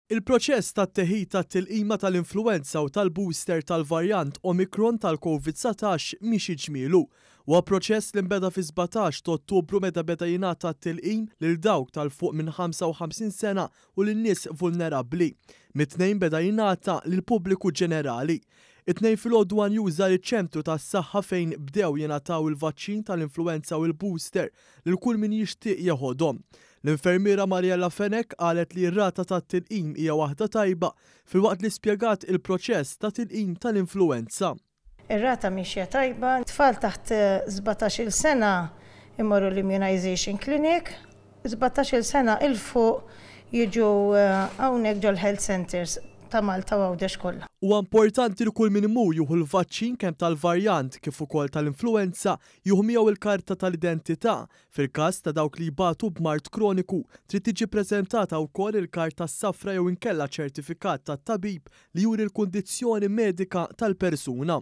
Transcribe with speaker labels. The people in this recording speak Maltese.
Speaker 1: Il-proċess tat-teħid tat-tilqima tal-influwenza u tal-booster tal-varjant Omicron tal-Covid 19 miexi ġmielu. Huwa proċess li nbeda fis-17 ta' Ottubru meta beda jingħata t-tilqim lil dawk tal fuq minn 55 sena u lin-nies vulnerabbli. Mit-Tnejn beda jingħata lill-pubbliku ġenerali. It-Tnejn filgħodu One News żar iċ-ċentru tas-saħħa fejn bdew jingħataw il-vaċċin tal-influwenza u l-booster lil kull min jixtieq jeħodhom. L-infermiera Mariella Fenech qalet li r-rata tat-tilqim hija waħda tajba filwaqt li spjegat il-proċess ta' tilqim tal-influwenza.
Speaker 2: Ir-rata miexja tajba. Tfal taħt 17-il sena jmorru l-immunization clinic, 17-il sena 'il fuq jiġu hawnhekk ġol-health centres ta' Malta u Għawdex kollha.
Speaker 1: Huwa importanti li kull min imur jieħu l-vaċċin kemm tal-varjant kif ukoll tal-influwenza jieħu miegħu l-karta tal-identità. Fil-każ ta' dawk li jbatu b'mard kroniku, trid tiġi ppreżentata wkoll il-karta s-safra jew inkella ċertifikat tat-tabib li juri l-kundizzjoni medika tal-persuna.